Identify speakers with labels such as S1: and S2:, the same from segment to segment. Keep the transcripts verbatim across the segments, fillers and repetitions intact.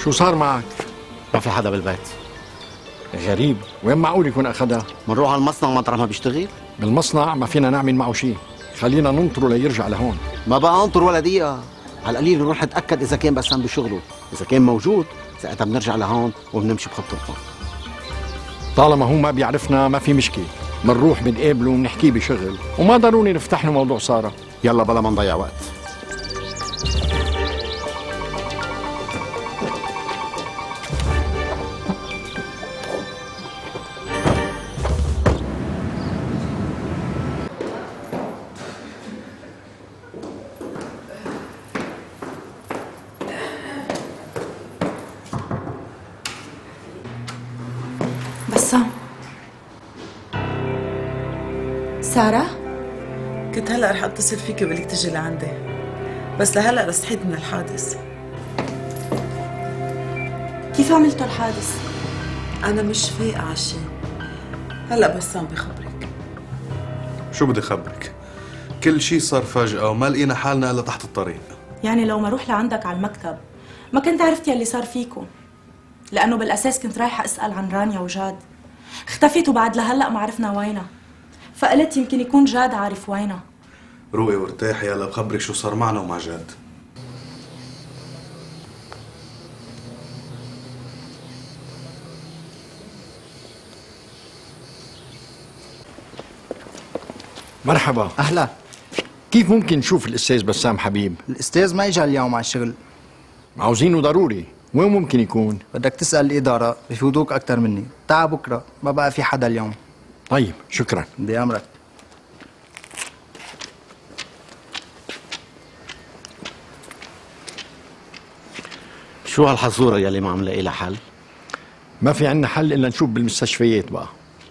S1: شو صار معك؟
S2: ما في حدا بالبيت.
S1: غريب، وين معقول يكون أخدها؟
S2: منروح على المصنع مطرح ما بيشتغل؟
S1: بالمصنع ما فينا نعمل معه شيء، خلينا ننطره ليرجع لهون.
S2: ما بقى انطر ولا دقيقة، على القليل نروح نتأكد إذا كان بسام بشغله، إذا كان موجود ساعتها بنرجع لهون وبنمشي بخط رفاق.
S1: طالما هو ما بيعرفنا ما في مشكلة، منروح بنقابله وبنحكيه بشغل، وما ضروري نفتح له موضوع سارة.
S2: يلا بلا ما نضيع وقت.
S3: بسام، سارة؟
S4: كنت هلا رح اتصل فيكي وبقول لك تجي لعندي، بس لهلا رستحيت من الحادث.
S3: كيف عملتوا الحادث؟
S4: انا مش فايقة عالشي، هلا بسام بخبرك.
S5: شو بدي خبرك؟ كل شي صار فجأة وما لقينا حالنا الا تحت الطريق.
S3: يعني لو ما روح لعندك على المكتب ما كنت عرفت يلي صار فيكم، لأنه بالأساس كنت رايحة أسأل عن رانيا وجاد. اختفت وبعد لهلأ ما عرفنا وينها، فقلت يمكن يكون جاد عارف وينها.
S5: روقي وارتاحي، يلا بخبرك شو صار معنا ومع جاد.
S1: مرحبا.
S6: أهلا.
S1: كيف ممكن نشوف الأستاذ بسام حبيب؟
S6: الأستاذ ما إجا اليوم على الشغل.
S1: عاوزينه ضروري، وين ممكن يكون؟
S6: بدك تسأل الإدارة بفوتوك أكتر مني. تعا بكرة، ما بقى في حدا اليوم.
S1: طيب شكرا.
S6: بدي أمرك.
S2: شو هالحزورة يلي ما عم لاقي لها حل؟
S1: ما في عنا حل إلا نشوف بالمستشفيات بقى.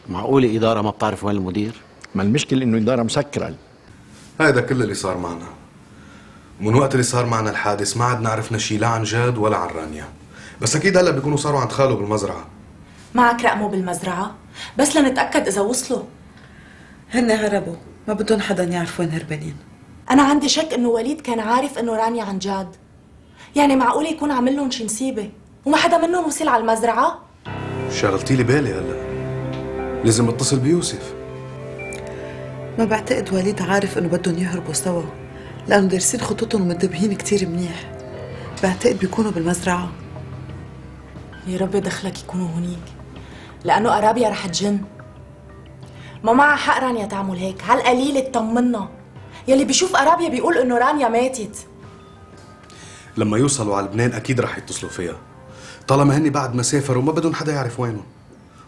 S2: معقولة إدارة ما بتعرف وين المدير؟
S1: ما المشكلة إنه إدارة مسكرة.
S5: هيدا كل اللي صار معنا، ومن وقت اللي صار معنا الحادث ما عدنا عرفنا شي لا عن جاد ولا عن رانيا. بس أكيد هلا بيكونوا صاروا عند خاله بالمزرعة.
S3: معك رقمه بالمزرعة؟ بس لنتأكد إذا وصلوا.
S4: هن هربوا، ما بدهم حدا يعرف وين هربانين.
S3: أنا عندي شك إنه وليد كان عارف إنه رانيا عن جاد. يعني معقول يكون عامل لهم شي مصيبة وما حدا منهم وصل على المزرعة؟
S5: شغلتي لي بالي هلا، لازم اتصل بيوسف.
S4: ما بعتقد وليد عارف انه بدهم يهربوا سوا، لانه دارسين خطوطهم ومنتبهين كتير منيح. بعتقد بيكونوا بالمزرعة.
S3: يا رب دخلك يكونوا هونيك، لأنه أرابيا رح تجن. ما معها حق رانيا تعمل هيك، على القليل اطمنا. يلي بيشوف أرابيا بيقول إنه رانيا ماتت.
S5: لما يوصلوا على لبنان أكيد رح يتصلوا فيها، طالما هني بعد ما سافروا ما بدهم حدا يعرف وينهم.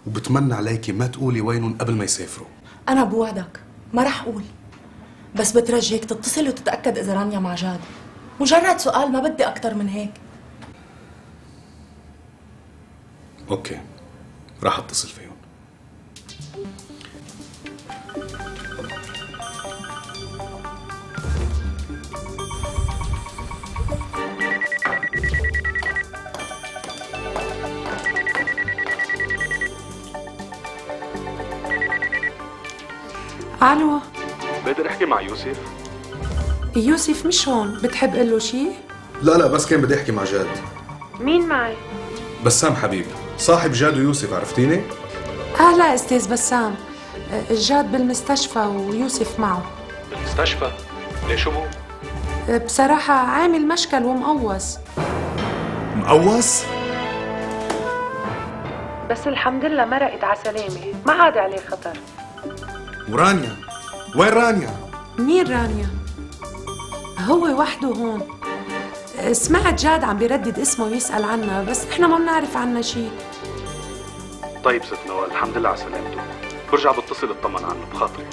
S5: وبتمنى عليكي ما تقولي وينهم قبل ما يسافروا.
S3: أنا بوعدك ما رح أقول، بس بترجيك تتصل وتتأكد إذا رانيا مع جاد. مجرد سؤال، ما بدي أكتر من هيك.
S5: أوكي، راح أتصل فيهم.
S7: الو،
S5: بقدر احكي مع يوسف؟
S7: يوسف مش هون، بتحب قله شي؟
S5: لا لا، بس كان بدي احكي مع جاد.
S7: مين معي؟
S5: بسام حبيب، صاحب جاد ويوسف، عرفتيني؟
S7: اهلا استاذ بسام، جاد بالمستشفى ويوسف معه.
S5: بالمستشفى؟ ليش هو؟
S7: بصراحة عامل مشكل ومقوس.
S5: مقوس؟
S7: بس الحمد لله مرقت على سلامة، ما عاد عليه خطر.
S5: ورانيا؟ وين رانيا؟
S7: مين رانيا؟ هو وحده هون. سمعت جاد عم بيردد اسمه ويسأل عنا، بس احنا ما بنعرف عنا شيء.
S5: طيب ست نوال، الحمد لله على سلامته. برجع بتصل اطمن عنه بخاطرك.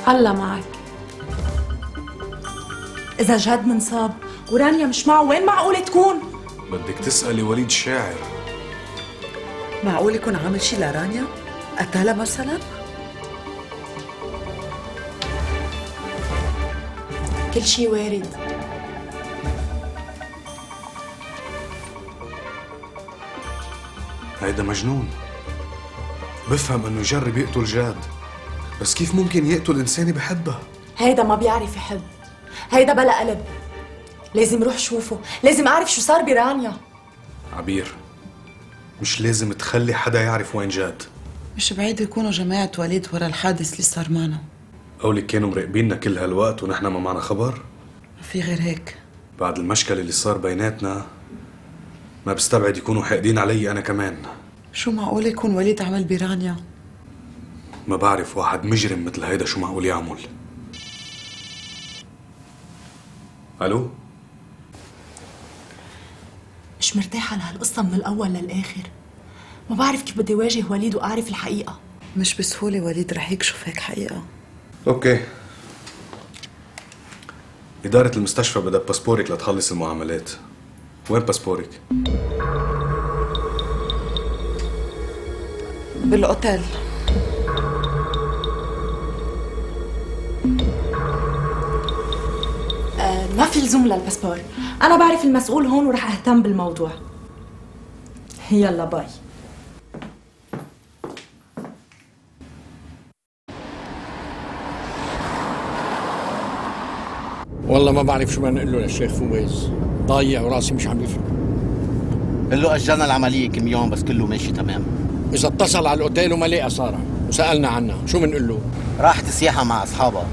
S7: الله معك.
S3: إذا جاد منصاب ورانيا مش معه، وين معقولة تكون؟
S5: بدك تسألي وليد الشاعر.
S4: معقول يكون عامل شي لرانيا؟ قتلها مثلا؟
S3: كل شي وارد.
S5: هيدا مجنون. بفهم انه يجرب يقتل جاد، بس كيف ممكن يقتل انسانة بحبها؟
S3: هيدا ما بيعرف يحب، هيدا بلا قلب. لازم روح شوفه، لازم اعرف شو صار برانيا.
S5: عبير، مش لازم تخلي حدا يعرف وين جاد.
S4: مش بعيد يكونوا جماعة وليد ورا الحادث اللي صار معنا.
S5: قولك كانوا مراقبيننا كل هالوقت ونحن ما معنا خبر؟
S4: ما في غير هيك.
S5: بعد المشكل اللي صار بيناتنا ما بستبعد يكونوا حاقدين علي أنا كمان.
S4: شو معقول يكون وليد عمل برانيا؟
S5: ما بعرف واحد مجرم مثل هيدا شو معقول يعمل. ألو؟
S3: مش مرتاحة لهالقصة من الأول للآخر. ما بعرف كيف بدي واجه وليد وأعرف الحقيقة.
S4: مش بسهولة وليد رح يكشف هيك حقيقة.
S5: أوكي. إدارة المستشفى بدها باسبورك لتخلص المعاملات. وين باسبورك؟
S4: بالأوتيل.
S3: آه ما في لزوم للباسبور. أنا بعرف المسؤول هون ورح أهتم بالموضوع. يلا باي.
S1: والله ما بعرف شو بدنا نقول له للشيخ فويز، ضايع وراسي مش عم يفهم.
S2: قل له اجلنا العمليه كم يوم بس كله ماشي تمام.
S1: اذا اتصل على الاوتيل وما لقى ساره وسالنا عنها شو بنقول له؟
S2: راحت سياحه مع اصحابها،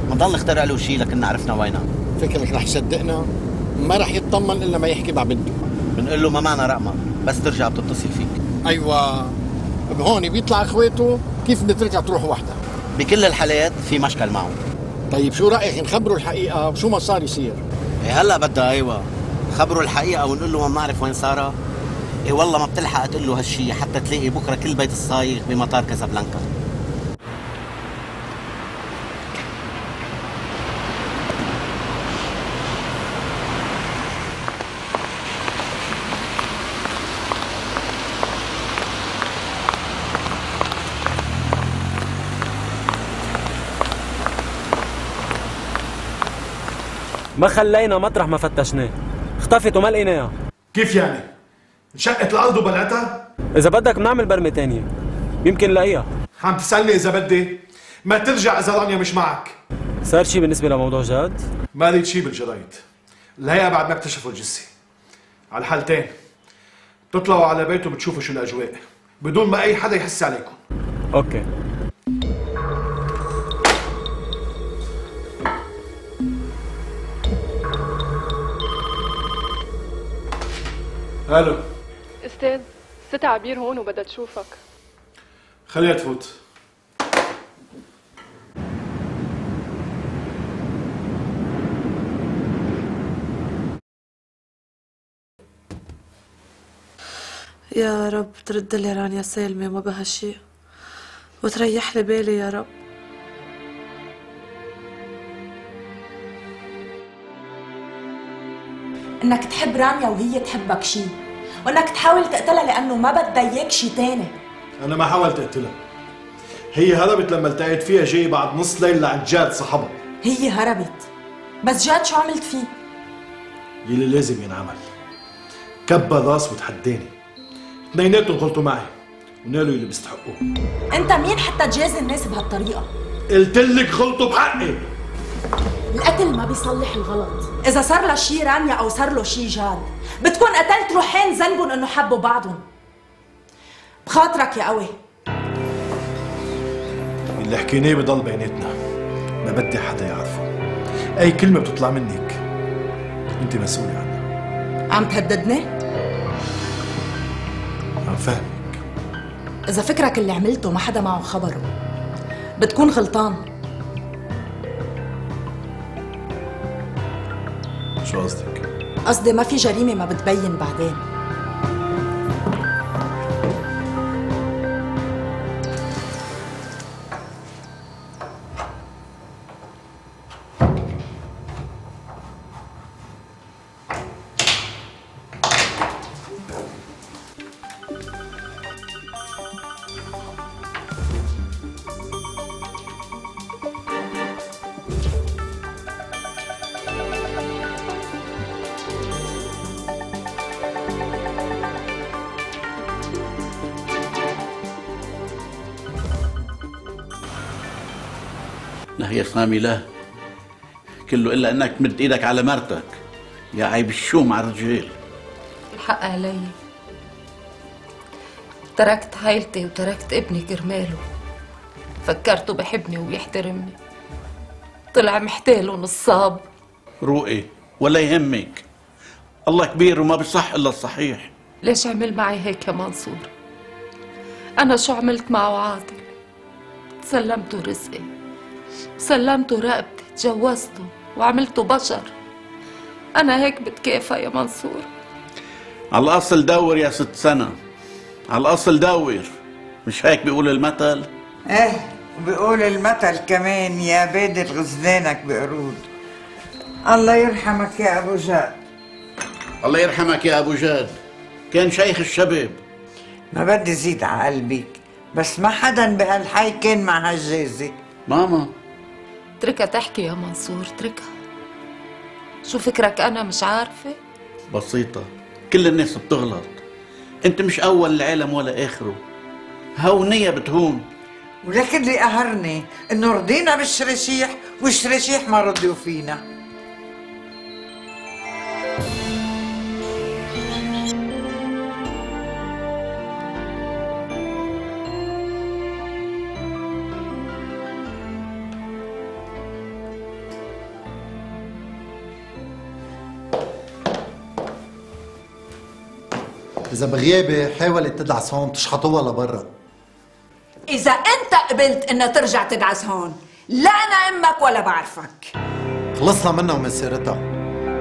S2: ما ضل نخترع له شيء لكن عرفنا وينها.
S1: فكر مش رح يصدقنا، ما رح يطمن الا ما يحكي مع بنته.
S2: بنقول له ما معنا رقمها بس ترجع بتتصل فيك.
S1: ايوه هون بيطلع اخواته كيف بترجع تروح وحدها.
S2: بكل الحالات في مشكل معه.
S1: طيب شو رايك نخبره الحقيقه وشو ما صار يصير؟
S2: إيه هلا بدها ايوه خبره الحقيقه ونقول له ما بنعرف وين ساره. ايه والله ما بتلحق تقول له هالشيء حتى تلاقي بكره كل بيت الصايغ بمطار كازابلانكا.
S8: ما خلينا مطرح ما فتشناه، اختفت وما لقيناها.
S9: كيف يعني؟ انشقت الارض وبلعتها؟
S8: إذا بدك بنعمل برمة تانية، يمكن نلاقيها.
S9: عم تسألني إذا بدي؟ ما ترجع إذا رانيا مش معك.
S8: صار شي بالنسبة لموضوع جاد؟
S9: ما ريد شي بالجرايد. الهيئة بعد ما اكتشفوا الجثة. على الحالتين بتطلعوا على بيته بتشوفوا شو الأجواء، بدون ما أي حدا يحس عليكم.
S8: أوكي.
S9: الو
S10: استاذ، ست عبير هون وبدها تشوفك.
S9: خليها تفوت.
S7: يا رب ترد لي رانيا سالمة وما بها شيء وتريح لي بالي يا رب.
S3: انك تحب رانيا وهي تحبك شي، وانك تحاول تقتلها لانه ما بدها اياك شي تاني.
S9: انا ما حاولت اقتلها، هي هربت لما التقيت فيها جاي بعد نص ليل لعند جاد صاحبها.
S3: هي هربت، بس جاد شو عملت فيه؟
S9: يلي لازم ينعمل، كبر راس وتحداني، اثنيناتهم غلطوا معي ونالوا اللي بيستحقوه.
S3: انت مين حتى تجازي الناس بهالطريقه؟
S9: قلت لك غلطوا بحقي.
S3: القتل ما بيصلح الغلط، اذا صار له شي رانيا او صار له شي جاد بتكون قتلت روحين ذنبهم انه حبوا بعضهم. بخاطرك يا قوي.
S9: اللي حكيناه بضل بيناتنا، ما بدي حدا يعرفه. اي كلمه بتطلع منك انت مسؤوله عنها.
S3: عم تهددني؟
S9: عم فهمك.
S3: اذا فكرك اللي عملته ما حدا معه خبره بتكون غلطان.
S9: شو قصدك؟
S3: قصدي ما في جريمة ما بتبين بعدين.
S11: لا يا سامي لا، كله إلا أنك تمد إيدك على مرتك. يا عيب الشوم على الرجال.
S10: الحق علي،
S12: تركت عيلتي وتركت ابني كرماله. فكرته بحبني وبيحترمني، طلع محتاله نصاب.
S11: روقي ولا يهمك، الله كبير وما بيصح الا الصحيح.
S12: ليش عمل معي هيك يا منصور؟ أنا شو عملت معه عاطل؟ سلمته رزقي، سلمته رقبتي، تجوزته وعملته بشر. أنا هيك بتكافى يا منصور.
S11: على الأصل دور يا ست سنة، على الأصل دور، مش هيك بيقول المثل؟
S13: ايه وبيقول المثل كمان يا بادر غزلانك بقرود. الله يرحمك يا أبو جاد.
S11: الله يرحمك يا أبو جاد، كان شيخ الشباب.
S13: ما بدي زيد على قلبك، بس ما حدا بهالحي كان مع هالجازي.
S11: ماما
S12: اتركها تحكي يا منصور، اتركها. شو فكرك أنا مش عارفة؟
S11: بسيطة، كل الناس بتغلط، انت مش أول العالم ولا آخره، هونية بتهون.
S13: ولكن اللي قهرني انه رضينا بالشرشيح والشرشيح ما رضيوا فينا.
S14: إذا بغيابي حاولت تدعس هون تشحطوها لبرا.
S15: إذا أنت قبلت إنها ترجع تدعس هون، لا أنا أمك ولا بعرفك.
S14: خلصنا منها ومن سيرتها.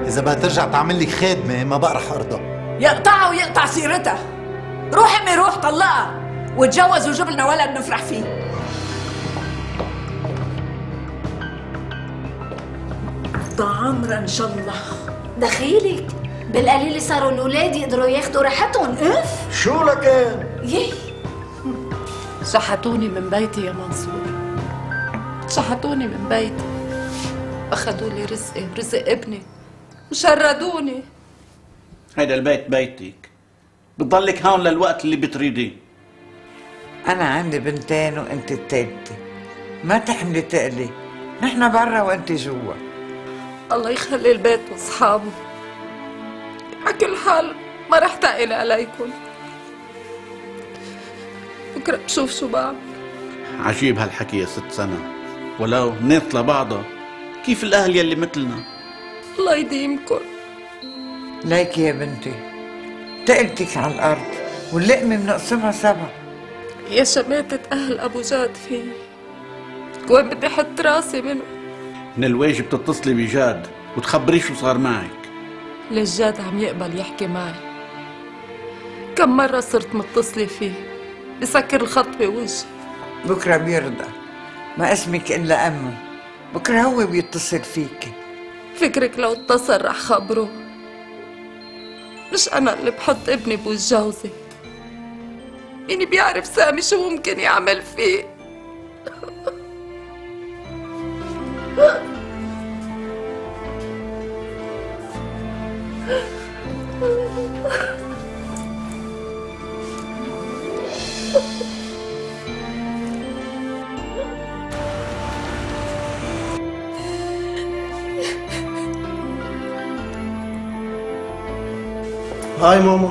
S14: إذا بدها ترجع تعمل لك خادمة ما بقى رح أرضى.
S15: يقطعها ويقطع سيرتها. روح أمي روح طلقها وتجوز وجيب لنا ولد نفرح فيه. طعمرة إن شاء الله.
S16: دخيلك بالقليل صاروا الأولاد يقدروا ياخدوا راحتهم. اف
S14: شو لكان؟
S12: يي شحتوني من بيتي يا منصور، شحتوني من بيتي، أخذوا لي رزقي ورزق ابني وشردوني.
S11: هيدا البيت بيتك، بتضلك هون للوقت اللي بتريديه.
S13: أنا عندي بنتين وأنت التالتة، ما تحملي تقلي، نحن برا وأنت جوا.
S12: الله يخلي البيت وأصحابه. على كل حال ما رح تقل عليكم، بكره بشوف شو بعمل.
S11: عجيب هالحكي يا ست سنة، ولو ناس لبعضها كيف الأهل يلي مثلنا.
S12: الله يديمكم.
S13: ليكي يا بنتي تقلتك على الأرض واللقمة بنقسمها سبع.
S12: يا شماتة أهل أبو جاد في وين بدي أحط راسي منه؟
S11: من الواجب تتصلي بجاد وتخبريه شو صار معك.
S12: ليش جاد عم يقبل يحكي معي؟ كم مرة صرت متصلة فيه بسكر الخط بوجهي.
S13: بكرة بيرضى، ما اسمك إلا أمه، بكرة هو بيتصل فيكي.
S12: فكرك لو اتصل رح خبره؟ مش أنا اللي بحط ابني بوجه جوزي، مين بيعرف سامي شو ممكن يعمل فيه؟
S17: هاي ماما.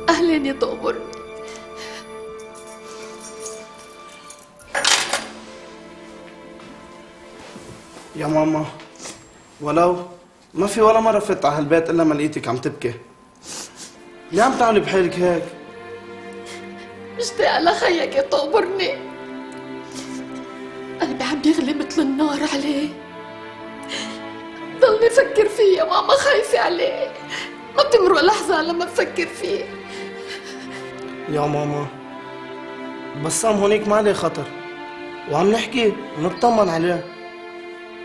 S16: أهلين يا طابر.
S17: يا ماما ولو ما في ولا مرة فت على هالبيت إلا ما لقيتك عم تبكي. ليه عم تعملي بحالك هيك؟
S16: مشتاقة لخيك يا طابرني، قلبي عم يغلي مثل النار عليه، ضلني فكر فيه يا ماما، خايفة عليه، ما بتمرق لحظة لما بفكر فيه.
S17: يا ماما بسام هونيك ما عليه خطر، وعم نحكي ونطمن عليه،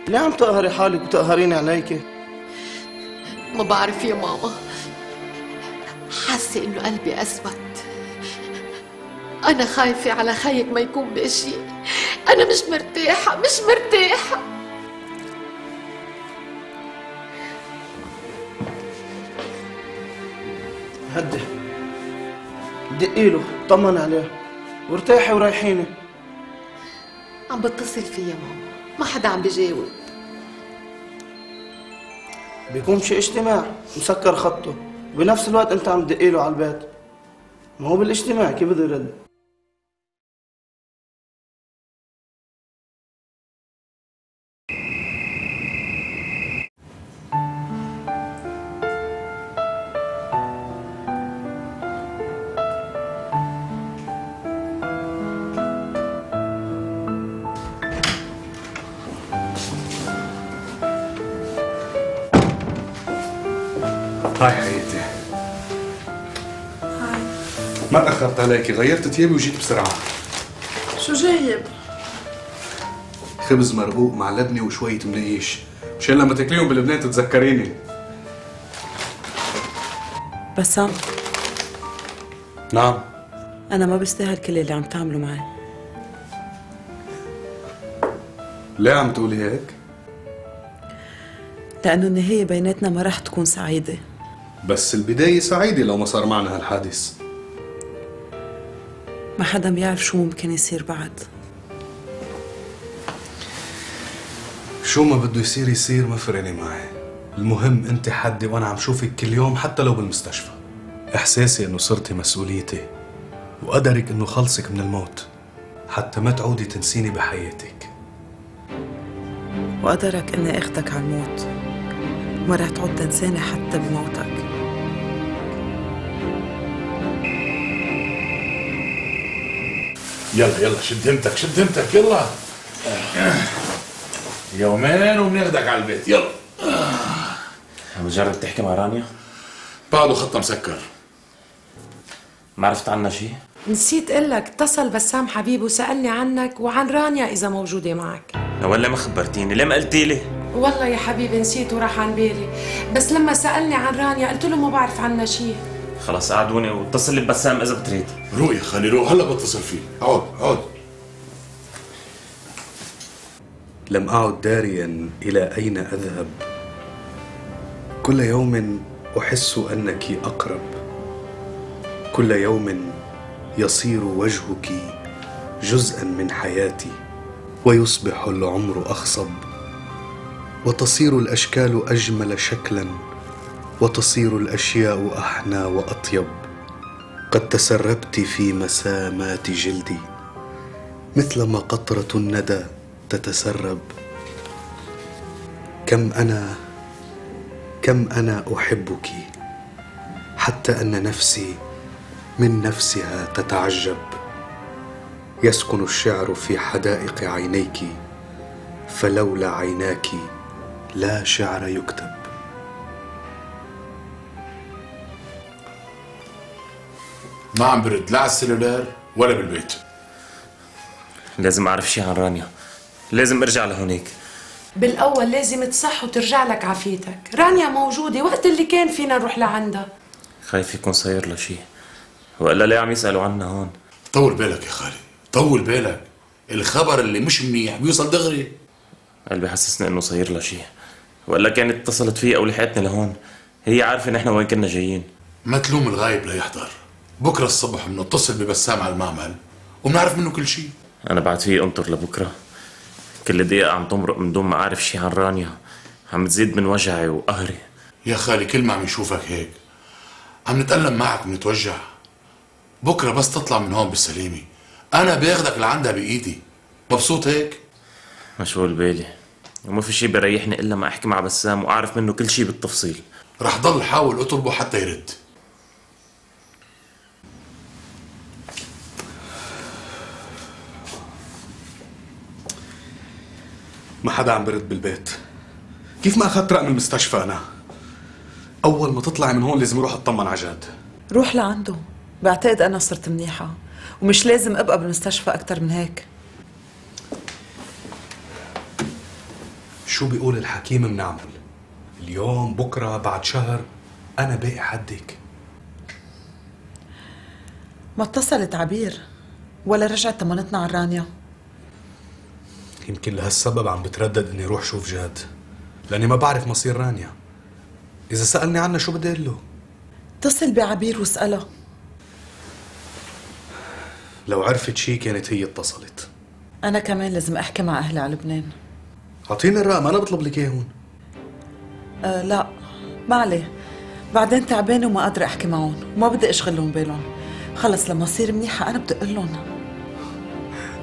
S17: ليه عم تقهري حالك وتقهريني عليكي؟
S16: ما بعرف يا ماما، حاسة إنه قلبي أسود. أنا خايفة على خيك ما يكون بإشي، أنا مش مرتاحة مش مرتاحة.
S17: هدي دقي له طمن عليه وارتاحي وريحيني.
S16: عم بتصل فيه يا ماما، ما حدا عم بيجاوب.
S17: بيكون شي اجتماع مسكر خطه، بنفس الوقت انت عم تدقيله على البيت. ما هو بالاجتماع كيف بده يرد؟
S5: هاي حياتي.
S3: هاي.
S5: ما تأخرت عليكي، غيرت ثيابي وجيت بسرعة.
S3: شو جايب؟
S5: خبز مرقوق مع لبنة وشوية منقيش، مشان لما تاكليهم بلبنان تتذكريني.
S4: بسام.
S5: نعم.
S4: أنا ما بستاهل كل اللي عم تعمله معي.
S5: ليه عم تقولي هيك؟
S4: لأنه النهاية بيناتنا ما رح تكون سعيدة.
S5: بس البداية سعيدة لو ما صار معنا هالحادث.
S4: ما حدا بيعرف شو ممكن يصير بعد.
S5: شو ما بده يصير يصير، ما فرقني معي. المهم انت حدي وانا عم شوفك كل يوم حتى لو بالمستشفى. احساسي انه صرتي مسؤوليتي، وقدرك انه خلصك من الموت حتى ما تعودي تنسيني بحياتك.
S4: وقدرك اني اخدك على الموت، ما رح تعود تنساني حتى بموتك.
S18: يلا يلا شد همتك شد همتك يلا. يومين وبناخدك على البيت. يلا.
S19: عم تجرب تحكي مع رانيا؟
S18: بعده خطها مسكر.
S19: ما عرفت عنها شيء؟
S7: نسيت اقول لك، اتصل بسام حبيبي وسألني عنك وعن رانيا إذا موجودة معك.
S19: ولا ما خبرتيني؟ ليه ما قلتي لي؟
S7: والله يا حبيبي نسيت وراح عن بالي، بس لما سألني عن رانيا قلت له ما بعرف عنها شيء.
S19: خلاص قعدوني واتصل لي ببسام إذا بتريد.
S18: روق يا خالي روق، هلا بتصل فيه. اقعد اقعد.
S5: لم أعد داريا إلى أين أذهب. كل يوم أحس أنك أقرب. كل يوم يصير وجهك جزءا من حياتي، ويصبح العمر أخصب، وتصير الأشكال أجمل شكلا، وتصير الأشياء أحنى وأطيب. قد تسربت في مسامات جلدي مثلما قطرة الندى تتسرب. كم أنا كم أنا أحبك، حتى أن نفسي من نفسها تتعجب. يسكن الشعر في حدائق عينيك، فلولا عيناك لا شعر يكتب.
S18: ما عم برد لا على السلولار ولا بالبيت.
S19: لازم أعرف شيء عن رانيا، لازم أرجع لهونيك.
S7: بالأول لازم تصح وترجع لك عافيتك. رانيا موجودة وقت اللي كان فينا نروح لعندها.
S19: خايف يكون صاير لها شيء، وإلا ليه عم يسألوا عنا هون؟
S18: طول بالك يا خالي، طول بالك. الخبر اللي مش منيح بيوصل دغري.
S19: قلبي حسسني إنه صاير لها شيء، وإلا كانت اتصلت فيه أو لحقتني لهون. هي عارفة نحن وين كنا جايين.
S18: ما تلوم الغايب لا يحضر. بكره الصبح بنتصل ببسام على المعمل وبنعرف منه كل شيء.
S19: أنا بعد فيه أنطر لبكره. كل دقيقة عم تمرق من دون ما أعرف شيء عن رانيا، عم تزيد من وجعي وقهري.
S18: يا خالي كل ما عم نشوفك هيك عم نتألم معك ونتوجع. بكره بس تطلع من هون بالسلامة أنا باخدك لعندها بإيدي. مبسوط هيك؟
S19: مشغول بالي، وما في شيء بريحني إلا ما أحكي مع بسام وأعرف منه كل شيء بالتفصيل.
S18: رح ضل حاول أطلبه حتى يرد.
S5: ما حدا عم برد بالبيت. كيف ما أخذت رقم المستشفى أنا؟ أول ما تطلعي من هون لازم أروح أطمن على جاد.
S4: روح لعنده، بعتقد أنا صرت منيحة ومش لازم أبقى بالمستشفى أكتر من هيك.
S5: شو بيقول الحكيم منعمل. اليوم بكرة بعد شهر أنا باقي حدك.
S4: ما اتصلت عبير ولا رجعت طمنتنا عن رانيا.
S5: يمكن لهالسبب عم بتردد اني اروح شوف جاد، لاني ما بعرف مصير رانيا. اذا سألني عنها شو بدي اقول له؟
S4: اتصل بعبير واسألها.
S5: لو عرفت شي كانت هي اتصلت.
S4: انا كمان لازم احكي مع اهلي على لبنان.
S5: اعطيني الرقم، انا بطلب لك اياه هون.
S4: أه لا ما عليه، بعدين تعبانة وما قادرة أحكي معهم وما بدي أشغلهم بالهم. خلص لما أصير منيحة أنا بدي أقول لهم.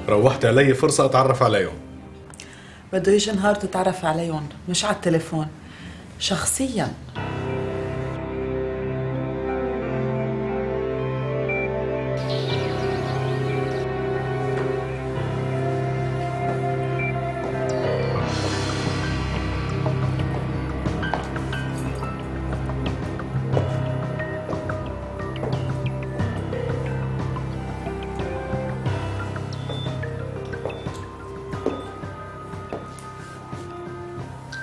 S5: روحت علي فرصة أتعرف عليهم.
S4: بده يجي نهار تتعرف عليهم، مش على التليفون، شخصياً.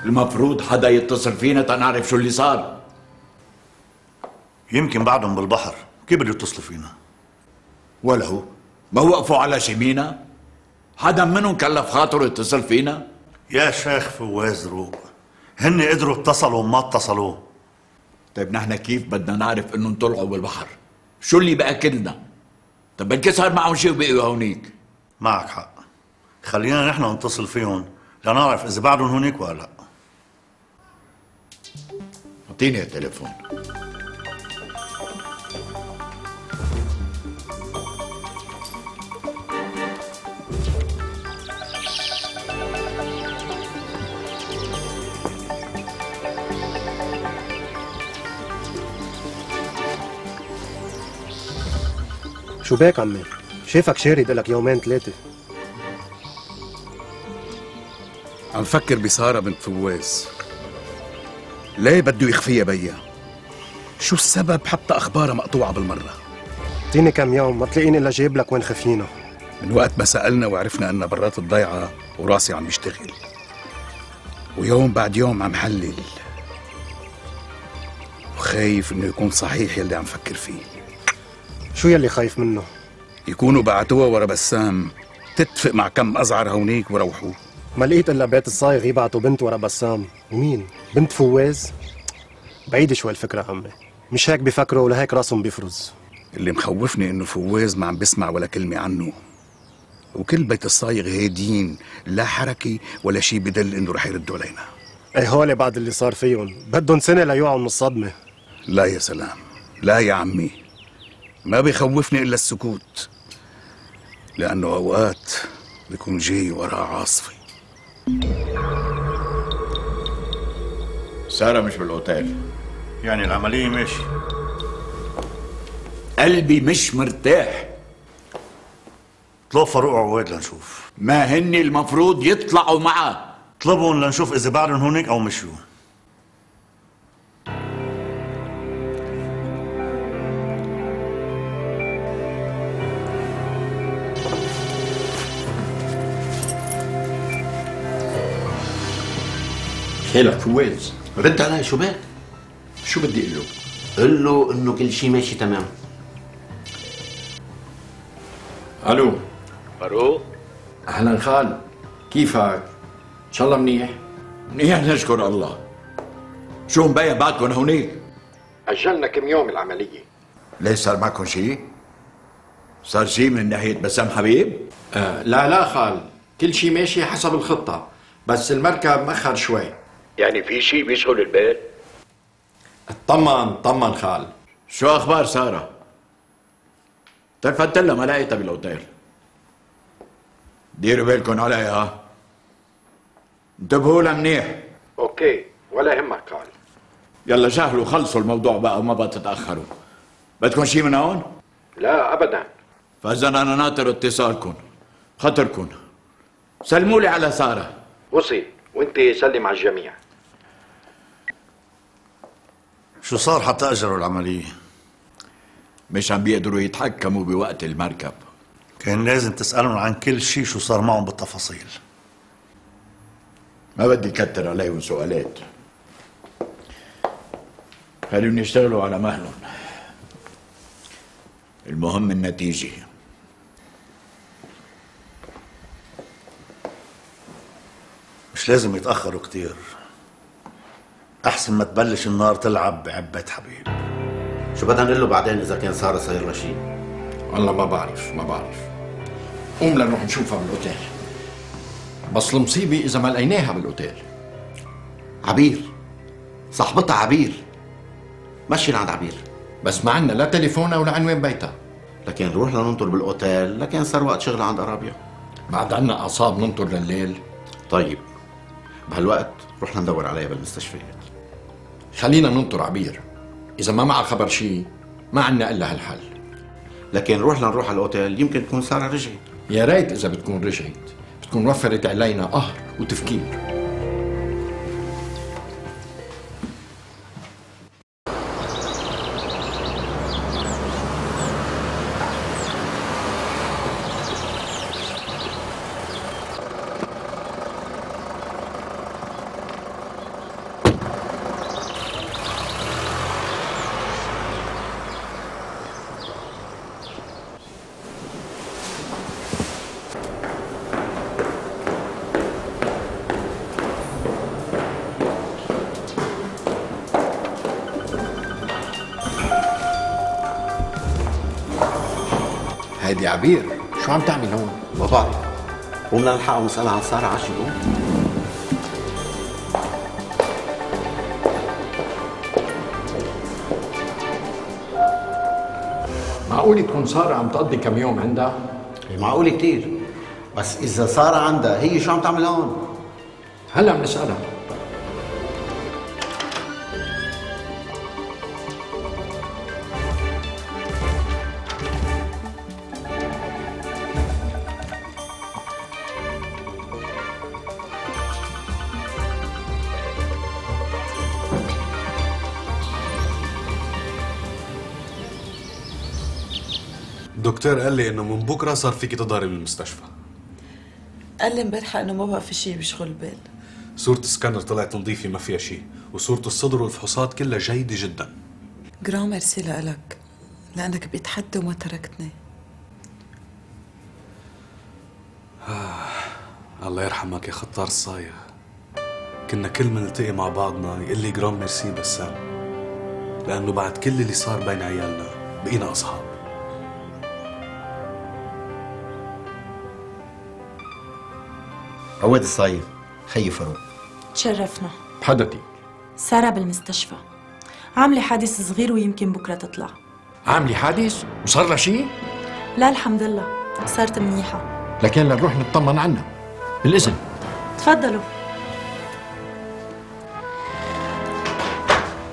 S20: المفروض حدا يتصل فينا تنعرف شو اللي صار.
S21: يمكن بعدهم بالبحر، كيف بده يتصلوا فينا؟
S20: ولو ما وقفوا على شمينا؟ حدا منهم كلف خاطره يتصل فينا؟
S21: يا شيخ فواز روق، هن قدروا اتصلوا وما اتصلوا.
S20: طيب نحن كيف بدنا نعرف انهم طلعوا بالبحر؟ شو اللي بأكلنا؟ طيب بلكي صار معهم شيء وبقيوا هونيك.
S21: معك حق، خلينا نحن نتصل فيهم لنعرف اذا بعدهم هونيك ولا لا.
S20: اعطيني التليفون.
S22: شو بك عمي؟ شايفك شارد لك يومين ثلاثة.
S23: عم فكر بسارة بنت فواز. ليه بده يخفيها بيا؟ شو السبب حتى أخبارها مقطوعة بالمرة؟
S22: اعطيني كم يوم ما تلاقيني إلا جايب لك وين خفينا.
S23: من وقت ما سألنا وعرفنا أنها برات الضيعة وراسي عم يشتغل، ويوم بعد يوم عم حلل، وخايف إنه يكون صحيح يلي عم فكر فيه.
S22: شو يلي خايف منه؟
S23: يكونوا بعتوها ورا بسام تتفق مع كم أزعر هونيك وروحوا.
S22: ما لقيت إلا بيت الصايغ يبعتوا بنت ورا بسام. ومين؟ بنت فواز؟ بعيدة شوي الفكرة عمي، مش هيك بيفكروا ولهيك راسهم بيفرز.
S23: اللي مخوفني إنه فواز ما عم بسمع ولا كلمة عنه، وكل بيت الصايغ هادين، لا حركة ولا شيء بدل إنه رح يردوا علينا.
S22: اي هول بعد اللي صار فيهم بدهم سنة ليوعوا من الصدمة.
S23: لا يا سلام، لا يا عمي، ما بيخوفني إلا السكوت، لأنه أوقات بيكون جاي وراه عاصفة.
S20: سارة مش بالأوتيل،
S21: يعني العملية ماشي.
S20: قلبي مش مرتاح.
S21: اطلب فاروق عواد لنشوف.
S20: ما هن المفروض يطلعوا معه.
S21: اطلبهم لنشوف إذا بعدهم هونيك أو مشوا.
S1: خيلك فواز،
S2: رد علي. شو بك؟
S1: شو بدي اقول له؟
S2: قل له انه كل شيء ماشي تمام.
S1: الو
S20: فاروق،
S1: اهلا خال، كيفك؟ ان شاء الله منيح؟
S20: منيح نشكر الله. شو مبين بعدكم هونيك؟
S1: اجلنا كم يوم العملية.
S20: ليش صار معكم شيء؟ صار شيء من ناحية بسام حبيب؟
S1: آه لا لا خال، كل شيء ماشي حسب الخطة، بس المركب مأخر شوي.
S20: يعني في شيء بيشغل البيت؟
S1: اطمن طمن خال.
S20: شو اخبار سارة؟ تلفت لها ما لقيتها بالاوتيل. ديروا بالكم عليها، انتبهوا لها منيح.
S1: اوكي ولا يهمك خال.
S20: يلا جهلوا خلصوا الموضوع بقى وما بقى تتأخروا. بدكم شيء من هون؟
S1: لا ابدا.
S20: فاذا انا ناطر اتصالكم، خطركم سلموا لي على سارة.
S1: وصي، وانت سلم على الجميع.
S21: شو صار حتى اجروا العملية؟
S20: مش عم بيقدروا يتحكموا بوقت المركب.
S21: كان لازم تسألهم عن كل شيء شو صار معهم بالتفاصيل.
S20: ما بدي كتر عليهم سؤالات، خليهم يشتغلوا على مهلهم، المهم النتيجة.
S21: مش لازم يتأخروا كتير، أحسن ما تبلش النار تلعب بعبة حبيب.
S2: شو بدنا نقول له بعدين إذا كان سارة صاير لها شيء؟
S1: والله ما بعرف ما بعرف. قوم لنروح نشوفها بالاوتيل. بس المصيبة إذا ما لقيناها بالاوتيل.
S2: عبير، صاحبتها عبير، مشي لعند عبير.
S1: بس ما عنا لا تليفونها ولا عنوان بيتها.
S2: لكن نروح لننطر بالاوتيل، لكن صار وقت شغل عند ارابيا.
S1: بعد عنا اعصاب ننطر لليل.
S2: طيب بهالوقت رحنا ندور عليها بالمستشفيات.
S1: خلينا ننطر عبير، اذا ما معها خبر شيء ما عنا الا هالحل.
S2: لكن نروح لنروح على الاوتيل يمكن تكون ساره رجعت.
S1: يا ريت اذا بتكون رجعت، بتكون وفرت علينا قهر وتفكير. هيدي عبير، شو عم تعمل هون؟
S2: ما بعرف. قوم لنلحقها ونسألها عن سارة عاشت قوم.
S1: معقول تكون سارة عم تقضي كم يوم عندها؟
S2: معقول كتير، بس إذا سارة عندها هي شو عم تعمل هون؟
S1: هلا بنسألها.
S5: الدكتور قال لي انه من بكره صار فيكي تظهري بالمستشفى.
S4: قال لي امبارحه انه ما بقى في شيء بيشغل البال.
S5: صورة السكانر طلعت نظيفة ما فيها شيء، وصورة الصدر والفحوصات كلها جيدة جدا.
S4: جرام ميرسي لك لأنك بقيت حد وما تركتني.
S5: آه. الله يرحمك يا خطار الصايغ. كنا كل ما نلتقي مع بعضنا يقول لي جرام ميرسي بسام، لأنه بعد كل اللي صار بين عيالنا بقينا أصحاب.
S2: عواد الصايغ، خيي فاروق.
S3: تشرفنا.
S1: بحضرتك.
S3: سارة بالمستشفى، عاملة حادث صغير ويمكن بكرة تطلع.
S1: عاملة حادث؟ وصار لها شيء؟
S3: لا الحمد لله، صارت منيحة.
S1: لكن لنروح نطمن عنها. بالإذن.
S3: تفضلوا.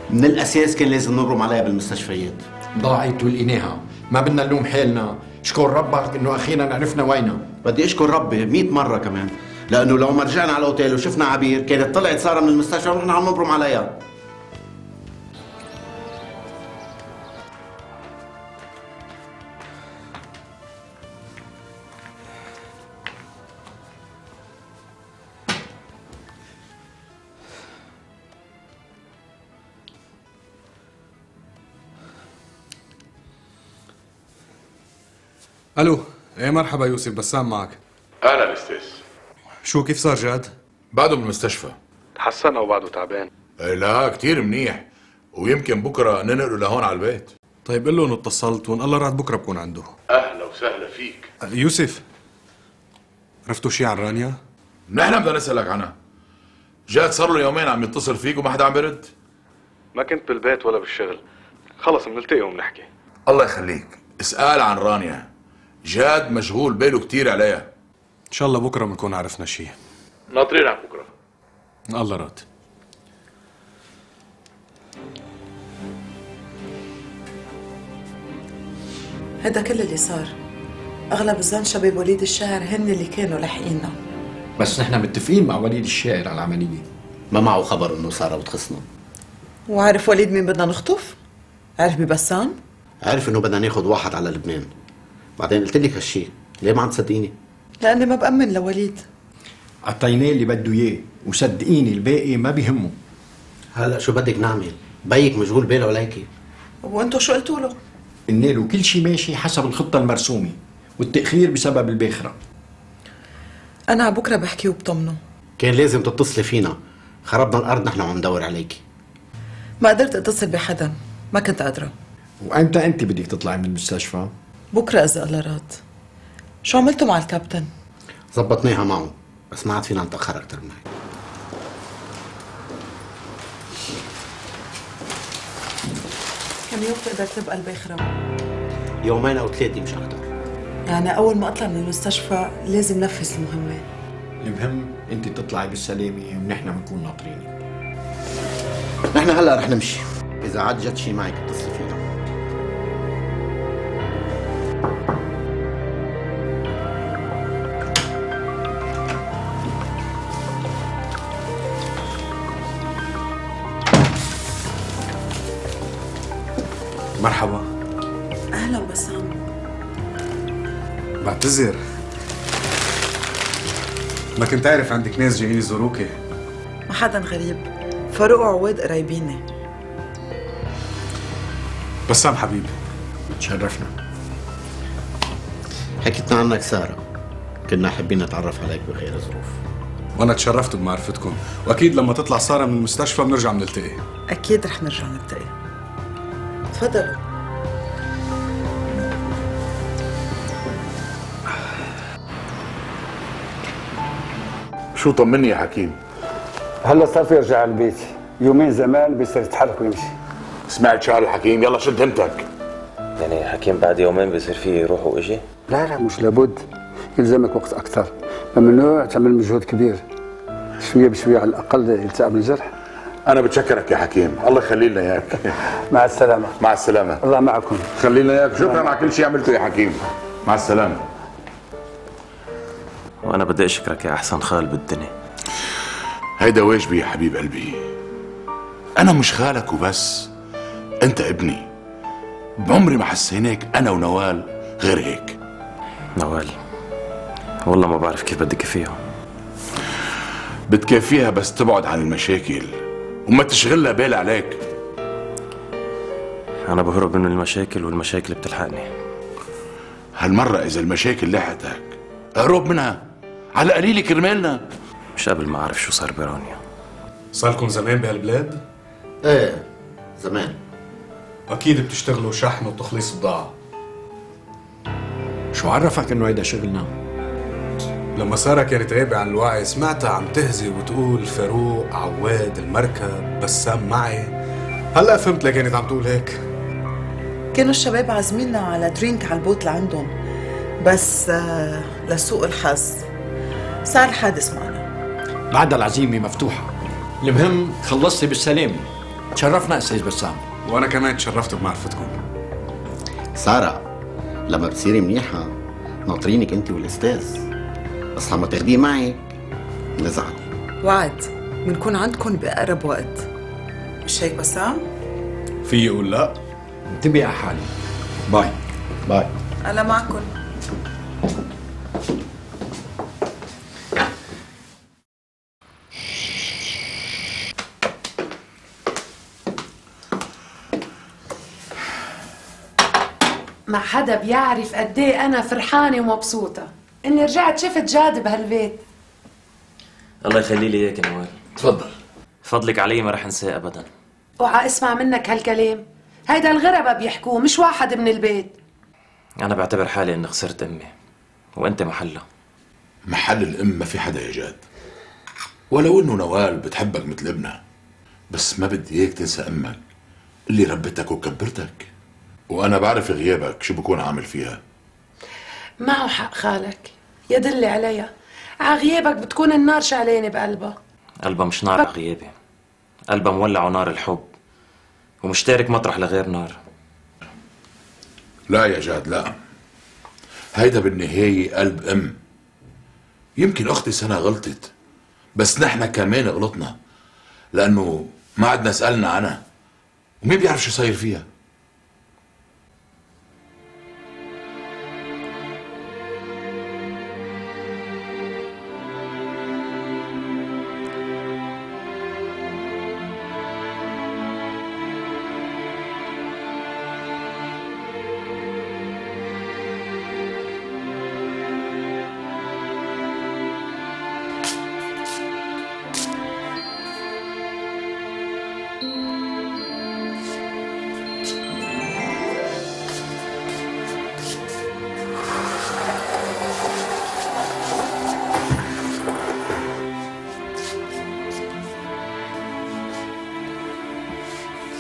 S2: من الأساس كان لازم نبرم عليها بالمستشفيات.
S1: ضاعت ولقيناها، ما بدنا نلوم حالنا، اشكر ربك إنه أخيرا عرفنا وينها.
S2: بدي أشكر ربي مئة مرة كمان، لأنه لو ما رجعنا على الأوتيل وشفنا عبير كانت طلعت سارة من المستشفى ونحن عم نبرم عليها.
S5: الو، ايه مرحبا يوسف، بسام معك.
S18: اهلا استاذ.
S5: شو كيف صار جاد؟
S18: بعده بالمستشفى.
S5: تحسن او بعده تعبان؟
S18: إيه لا كتير منيح، ويمكن بكره ننقله لهون على البيت.
S5: طيب قل له انه اتصلت وان الله راد بكره بكون عنده.
S18: اهلا وسهلا فيك.
S5: يوسف، عرفتوا شي عن رانيا؟
S18: نحن بدنا نسألك عنها. جاد صار له يومين عم يتصل فيك وما حدا عم بيرد.
S5: ما كنت بالبيت ولا بالشغل، خلص بنلتقي وبنحكي.
S18: الله يخليك، اسأل عن رانيا. جاد مشغول باله كتير عليها.
S5: ان شاء الله بكره بنكون عرفنا شي.
S18: ناطرينك بكره.
S5: الله راد.
S4: هذا كل اللي صار. اغلب الظن شباب وليد الشاعر هن اللي كانوا لاحقيننا.
S1: بس نحن متفقين مع وليد الشاعر على العملية.
S2: ما معه خبر انه سارة بتخصنا.
S4: وعارف وليد مين بدنا نخطف؟ عارف ببسام؟
S2: عارف انه بدنا ناخذ واحد على لبنان. بعدين قلت لك هالشي، ليه ما عم تصدقيني؟
S4: لاني ما بأمن لوليد.
S1: عطيناه اللي بده اياه، وصدقيني الباقي ما بيهمه.
S2: هلا شو بدك نعمل؟ بيك مشغول باله عليكي.
S4: وانتو شو قلتوا له؟
S1: قلنا له كل شيء ماشي حسب الخطة المرسومة، والتأخير بسبب الباخرة.
S4: أنا على بكرة بحكي وبطمنه.
S2: كان لازم تتصلي فينا، خربنا الأرض نحن عم ندور عليكي.
S4: ما قدرت أتصل بحدا، ما كنت قادرة.
S1: وأمتى أنت بدك تطلعي من المستشفى؟
S4: بكرة إذا الله راد. شو عملتوا مع الكابتن؟
S2: زبطناها معه، بس ما عاد فينا نتأخر أكثر من هيك.
S4: كم يوم تقدر تبقى الباخرة؟
S2: يومين او ثلاثه مش اكثر.
S4: يعني أول ما أطلع من المستشفى لازم نفذ المهمة.
S1: المهم انت تطلعي بالسلامه ونحن بنكون ناطرينك.
S2: نحن هلا رح نمشي، اذا عاد جد شي معك اتصلي فينا.
S5: مرحبا.
S4: أهلا بسام.
S5: بعتذر، ما كنت عارف عندك ناس جايين يزوروكي.
S4: ما حدا غريب، فاروق وعواد قرايبيني.
S5: بسام حبيبي.
S1: تشرفنا.
S2: حكيتنا عنك ساره، كنا حابين نتعرف عليك بخير ظروف.
S5: وانا تشرفت بمعرفتكم، واكيد لما تطلع ساره من المستشفى بنرجع بنلتقي.
S4: أكيد رح نرجع نلتقي. تفضلوا.
S18: شو طمني يا حكيم؟
S6: هلا صار في يرجع على البيت، يومين زمان بيصير يتحرك ويمشي.
S18: سمعت شعر الحكيم، يلا شد همتك.
S19: يعني حكيم بعد يومين بيصير فيه يروح ويجي؟
S6: لا لا مش لابد، يلزمك وقت أكثر، ممنوع تعمل مجهود كبير. شوية بشوية على الأقل يلتئم الجرح.
S18: أنا بتشكرك يا حكيم، الله يخلي لنا إياك.
S6: مع السلامة.
S18: مع السلامة.
S6: الله معكم.
S18: خلي لنا إياك، شكرا على كل شيء عملته يا حكيم. مع السلامة.
S19: وأنا بدي أشكرك يا أحسن خال بالدنيا.
S18: هيدا واجبي يا حبيب قلبي. أنا مش خالك وبس، أنت ابني. بعمري ما حسيناك أنا ونوال غير هيك.
S19: نوال والله ما بعرف كيف بدي كفيها.
S18: بتكافيها بس تبعد عن المشاكل وما تشغلها بال عليك.
S19: أنا بهرب من المشاكل والمشاكل بتلحقني.
S18: هالمرة إذا المشاكل لحقتك اهرب منها على قليل كرمالنا.
S19: مش قبل ما أعرف شو صار برانيا.
S5: صار لكم زمان بهالبلاد؟
S2: ايه زمان.
S5: أكيد بتشتغلوا شحن وتخليص بضاعة.
S1: شو عرفك انه هيدا شغلنا؟
S5: لما سارة كانت غايبة عن الوعي سمعتها عم تهزي وتقول فاروق، عواد، المركب، بسام معي. هلا فهمت ليه كانت عم تقول هيك.
S4: كانوا الشباب عازميننا على درينك على البوت لعندهم، بس آه لسوء الحظ صار حادث معنا.
S1: بعد العزيمة مفتوحة. المهم خلصتي بالسلامة. تشرفنا أستاذ بسام.
S5: وأنا كمان تشرفت بمعرفتكم.
S2: سارة لما بتصيري منيحة ناطرينك أنت والأستاذ، بس لما تاخديه معك نزعل.
S4: وعد بنكون عندكم بأقرب وقت، مش هيك بسام؟
S5: في يقول لا؟
S1: انتبهي على حالي. باي.
S2: باي.
S4: أنا معكم.
S7: ما حدا بيعرف قد ايه انا فرحانه ومبسوطه اني رجعت شفت جاد بهالبيت.
S19: الله يخلي لي اياك يا نوال.
S18: تفضل.
S19: فضلك علي ما رح انساه ابدا.
S7: اوعى اسمع منك هالكلام، هيدا الغربة بيحكوه مش واحد من البيت.
S19: انا بعتبر حالي اني خسرت امي وانت محلها.
S18: محل الام ما في حدا يا جاد، ولو انه نوال بتحبك مثل ابنها، بس ما بدي اياك تنسى امك اللي ربتك وكبرتك، وانا بعرف غيابك شو بكون عامل فيها.
S7: معه حق خالك، يدل عليها. ع غيابك بتكون النار شعلانه بقلبها.
S19: قلبها مش نار على غيابي، قلبها مولع نار الحب ومشترك مطرح لغير نار.
S18: لا يا جاد لا، هيدا بالنهاية قلب ام. يمكن اختي سنة غلطت، بس نحن كمان غلطنا لانه ما عدنا سألنا عنها ومين بيعرف شو صاير فيها.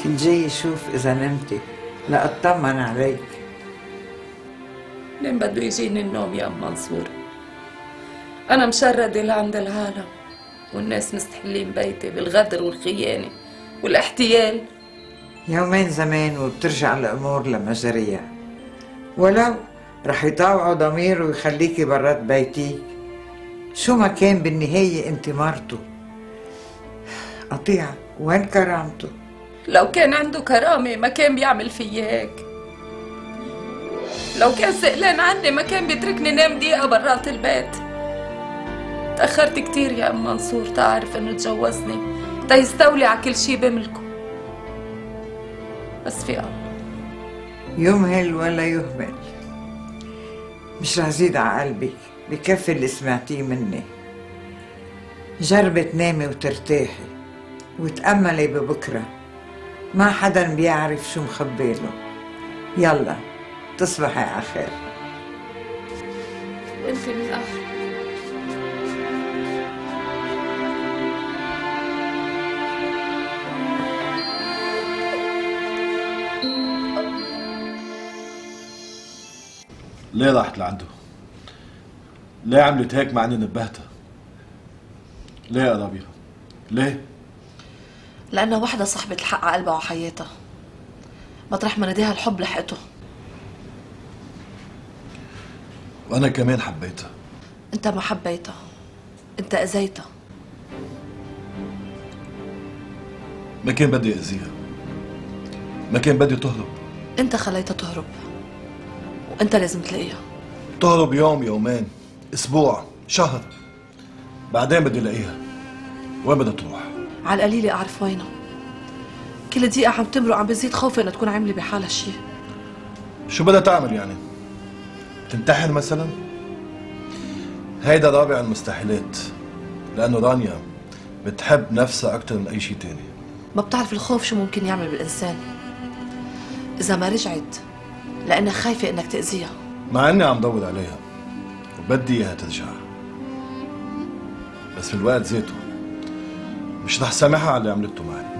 S13: كنت جاي اشوف اذا نمتي. لأطمن عليك.
S12: لين بده يجيني النوم يا ام منصور؟ انا مشردة لعند العالم، والناس مستحلين بيتي بالغدر والخيانة والاحتيال.
S13: يومين زمان وبترجع الأمور لمجاريها، ولو رح يطاوعوا ضميره ويخليكي برات بيتي، شو ما كان بالنهاية انت مرته. قطيعة وين كرامته؟
S12: لو كان عنده كرامة ما كان بيعمل فيي هيك. لو كان سئلان عني ما كان بيتركني نام دقيقة برات البيت. تأخرت كتير يا ام منصور تعرف انه تجوزني تيستولي على كل شي بملكه، بس في الله
S13: يمهل ولا يهمل. مش رح زيد على قلبك، بكفي اللي سمعتيه مني. جربي تنامي وترتاحي وتأملي ببكرة، ما حدا بيعرف شو مخبيله. يلا تصبحي على خير.
S12: انت من اهل.
S8: ليه راحت لعنده؟ ليه عملت هيك مع اني نبهتها؟ ليه يا ربيع؟ ليه؟
S3: لأنها وحدة صاحبة الحق على قلبها وحياتها، مطرح ما ناديها الحب لحقته.
S8: وأنا كمان حبيتها.
S3: أنت ما حبيتها، أنت أذيتها.
S8: ما كان بدي أذيها، ما كان بدي تهرب.
S3: أنت خليتها تهرب، وأنت لازم تلاقيها.
S8: تهرب يوم، يومين، أسبوع، شهر، بعدين بدي ألاقيها. وين بدها تروح؟
S3: على القليلة أعرف وينها. كل دقيقة عم تمرق عم بزيد خوفي إنها تكون عاملة بحالها شيء.
S8: شو بدها تعمل يعني؟ تنتحر مثلا؟ هيدا رابع المستحيلات، لأنه رانيا بتحب نفسها أكتر من أي شيء تاني.
S3: ما بتعرف الخوف شو ممكن يعمل بالإنسان. إذا ما رجعت لأنها خايفة إنك تأذيها.
S8: مع إني عم دور عليها وبدي إياها ترجع، بس في الوقت ذاته مش رح سامحها على اللي عملته معي.